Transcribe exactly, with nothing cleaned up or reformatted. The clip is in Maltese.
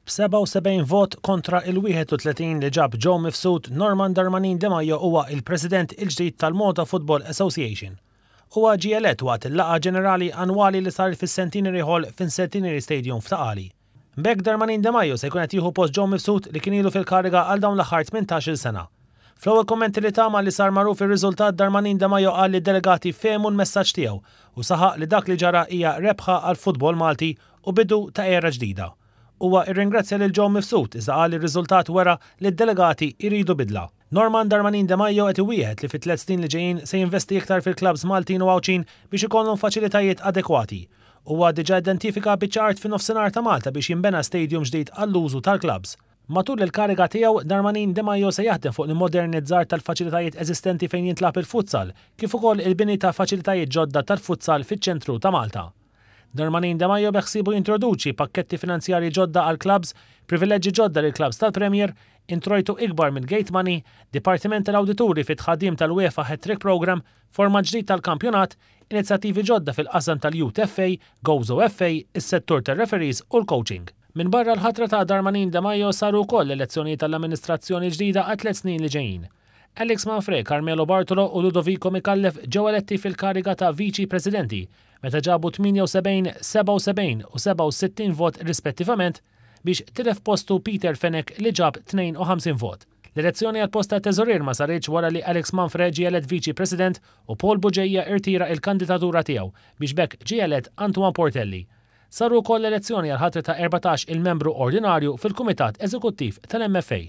B'sebgħa u sebgħin vot kontra il-wieħed u tletin li ġab Joe Mifsud, Norman Darmanin Demajo huwa il-President il-ġdid tal-Malta Football Association. Huwa ġie elett waqt il-laqgħa ġenerali annwali li saret fis-Centenary Hall fin-Centenary Stadium f'Ta' Qali. B'hekk Darmanin Demajo se jkun qed jieħu post Joe Mifsud li kien ilu fil-kariga għal dawn l-aħħar tmintax-il sena. Fl-ewwel kummenti li ta malli sar magħruf ir-riżultat, Darmanin Demajo qal li d-delegati fehmu l-messaġġ tiegħu u saħaq li dak li ġara hija rebħa għall-futbol Malti u bidu ta' era ġdida. Huwa irringrazzja lil Joe Mifsud, iżda qal li r-riżultat wera li d-delegati jridu bidla. Norman Darmanin Demajo qed iwieħed li fit-tliet snin li ġejjin se jinvesti iktar fil-klabbs Maltin u Għawdxin biex ikollhom faċilitajiet adekwati. Huwa diġà identifika biċċa art fin-nofsinhar ta' Malta biex jinbena stadium ġdid għall-użu tal-klabbs. Matul il-kariga tiegħu, Darmanin Demajo se jaħdem fuq il-modernizzar tal-faċilitajiet eżistenti fejn jintlagħab il-futsal, kif ukoll il-bini ta' faċilitajiet ġodda tal-futsal fiċ-ċentru ta' Malta. Darmanin Demajo beħsiebu jintroduċi pakketti finanzjarji ġodda għal klabbs, privileġġi ġodda lil klabbs tal-Premier, introjtu ikbar minn gate money, dipartiment tal-awdituri fit-tħaddim tal-UEFA Hat-Trick Program, format ġdid tal-kampjonat, inizjattivi ġodda fil-qasam tal-Youth F A, Gozo F A, is-settur tal-referees u l-coaching. Minn barra l-ħatra ta' Darmanin Demajo, saru wkoll elezzjoni tal-amministrazzjoni ġdida għal tliet snin li ġejjin. Alex Manfre, Carmelo Bartolo u Ludovico Micallef ġew eletti fil-kariga ta' viċi presidenti meta ġabu tmienja u sebgħin, sebgħa u sebgħin u sebgħa u sittin vot rispettivament, biex tilef postu Peter Fenech li ġab tnejn u ħamsin vot. L-elezzjoni għal post ta' teżorier ma saritx wara li Alex Manfre ġie elett viċi president u Paul Bugeja irtira il-kandidatura tiegħu, biex b'hekk ġie elett Antoine Portelli. Saru wkoll elezzjoni għal ħatra ta' erbatax il-membru ordinarju fil-Kumitat Eżekuttiv tal-M F A.